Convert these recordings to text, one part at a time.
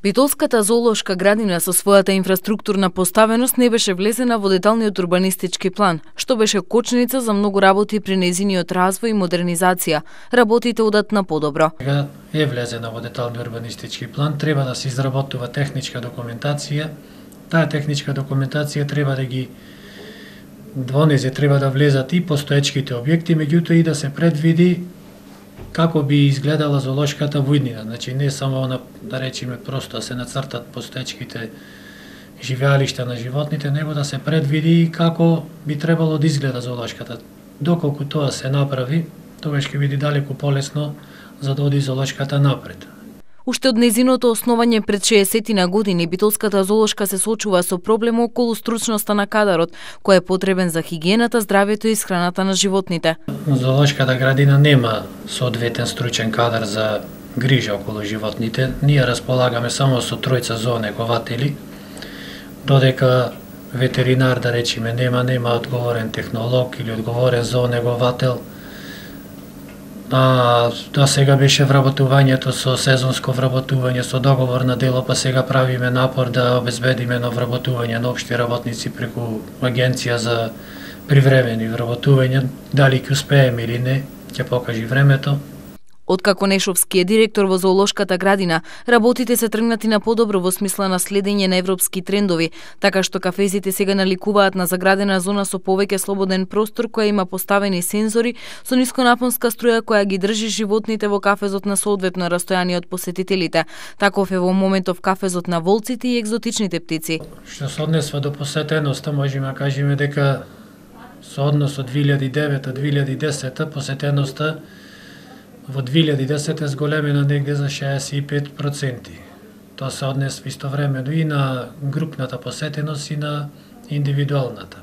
Битолската зоолошка градина со својата инфраструктурна поставеност не беше влезена во деталниот урбанистички план, што беше кочница за многу работи при нејзиниот развој и модернизација. Работите одат на подобро. Сега е влезена во деталниот урбанистички план, треба да се изработува техничка документација. Таа техничка документација треба да ги донесе, треба да влезат и постоечките објекти, меѓутоа и да се предвиди како би изгледала зоолошката во иднина. Значи не само да речеме просто да се нацртат постоечките живеалишта на животните, него да се предвиди како би требало да изгледа зоолошката. Доколку тоа се направи, тогаш ќе биде далеку полесно за да оди зоолошката напред. Уште од нејзиното основање пред 60 години, Битолската зоолошка се соочува со проблем околу стручноста на кадарот, кој е потребен за хигиената, здравјето и исхраната на животните. Зоолошката градина нема соодветен стручен кадар за грижа околу животните. Ние располагаме само со тројца зоонегователи, додека ветеринар, да речеме, нема одговорен технолог или одговорен зоонеговател. Да сега беше вработувањето со сезонско вработување, со договор на дело, па сега правиме напор да обезбедиме на вработување на општи работници преку агенција за привремени вработувања. Дали ќе успееме или не, ќе покажи времето. Откако Нешовски е директор во зоолошката градина, работите се тргнати на подобро во смисла на следење на европски трендови, така што кафезите сега наликуваат на заградена зона со повеќе слободен простор која има поставени сензори со нисконапонска струја која ги држи животните во кафезот на соодветно растојание од посетителите. Таков е во моментов кафезот на волците и екзотичните птици. Што се однесува до посетеноста, можеме да кажеме дека со однос од 2009-2010 посетеноста во 2010 е зголемена негде за 65%. Тоа се однесува истовремено и на групната посетеност и на индивидуалната.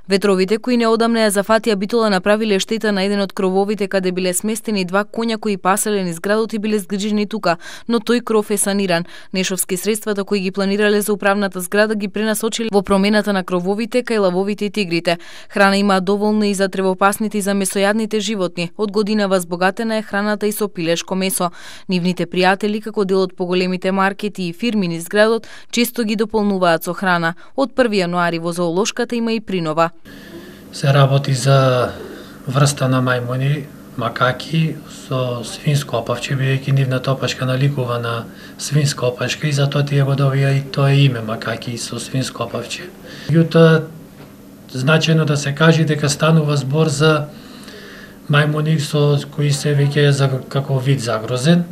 Ветровите кои неодамна ја зафатија Битола направиле штета на еден од крововите каде биле сместени два коња кои паселе низ градот и биле згрижени тука, но тој кров е саниран. Нешовски средствата кои ги планирале за управната зграда ги пренасочиле во промената на крововите кај лавовите и тигрите. Храна има доволно и за тревопасните и за месојадните животни. Од година возбогатена е храната и со пилешко месо. Нивните пријатели, како дел од поголемите маркети и фирми низ градот, често ги дополнуваат со храна. Од 1 јануари во зоолошката има и принова. Се работи за врста на мајмуни, макаки со свинско опавче, бидејќи нивната опашка наликува на свинска опашка и затоа тие го добија и тоа име макаки со свинско опавче. Меѓутоа, значајно да се каже дека станува збор за мајмуни со кои се веќе како вид загрозен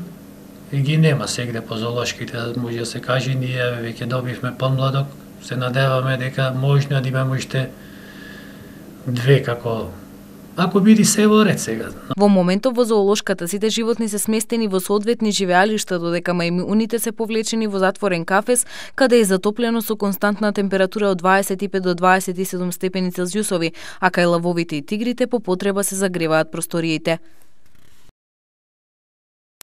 и ги нема сегде по зоолошките, може да се каже, ние веќе добивме помладок, се надеваме дека можно да имаме уште две како ако биде се во ред сега. Во моментов во зоолошката сите животни се сместени во соодветни живеалишта, додека мајмуните се повлечени во затворен кафез, каде е затоплено со константна температура од 25 до 27 степени Целзиусови, а кај лавовите и тигрите по потреба се загреваат просториите.